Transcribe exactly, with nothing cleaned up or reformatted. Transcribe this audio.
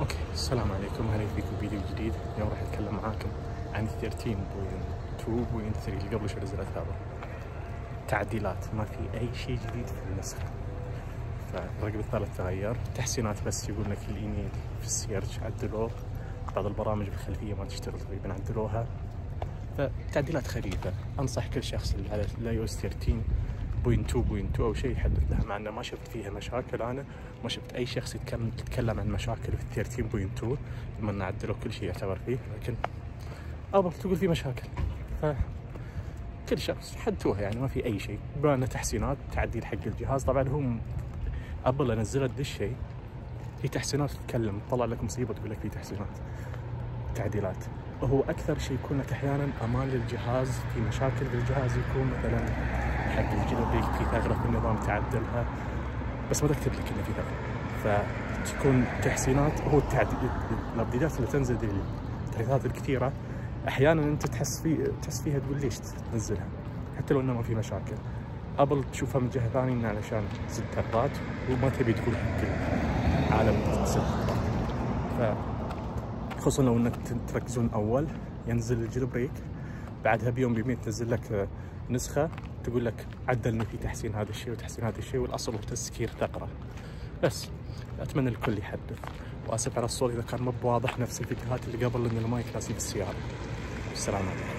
اوكي، السلام عليكم، اهلا فيكم فيديو جديد. اليوم راح اتكلم معاكم عن ثلاثة عشر نقطة اثنين نقطة ثلاثة اللي قبل شو نزلت هذا. تعديلات، ما في اي شيء جديد في النسخة. فالرقم الثالث تغير، تحسينات بس يقول لك الايميل في السيرش عدلوه، بعض البرامج بالخلفية ما تشتغل تقريبا عدلوها، فتعديلات خفيفة. انصح كل شخص اللي على الاي او اس ثلاثة عشر نقطة اثنين نقطة اثنين او شيء يحدث لها، مع انه ما شفت فيها مشاكل. انا ما شفت اي شخص يتكلم يتكلم عن مشاكل في ثلاثة عشر نقطة اثنين بما ان عدلوا كل شيء يعتبر فيه، لكن ابل تقول في مشاكل. فكل شخص حدوها يعني ما في اي شيء، بما انه تحسينات تعديل حق الجهاز. طبعا هم ابل نزلت ذا الشيء، في تحسينات تتكلم تطلع لك مصيبه تقول لك في تحسينات تعديلات. هو اكثر شيء يكون لك احيانا امان للجهاز، في مشاكل بالجهاز يكون مثلا حق الجلوبيك في ثغره في النظام تعدلها، بس ما تكتب لك انه في ثغره. فتكون تحسينات، هو التعديل الابديتات اللي تنزل دي التحديثات الكثيره احيانا انت تحس في تحس فيها تقول ليش تنزلها حتى لو انه ما في مشاكل. ابل تشوفها من جهه ثانيه انه علشان تسد ثغرات وما تبي تقول حق العالم تسد ثغرات. خصوصا لو انك تركزون اول ينزل الجيل بريك، بعدها بيوم بيومين تنزل لك نسخه تقول لك عدلنا في تحسين هذا الشيء وتحسين هذا الشيء، والاصل هو تسكير ثغره. بس اتمنى الكل يحدث، واسف على الصوت اذا كان مو بواضح نفس الفيديوهات اللي قبل لان المايك راسي في السياره. السلام عليكم.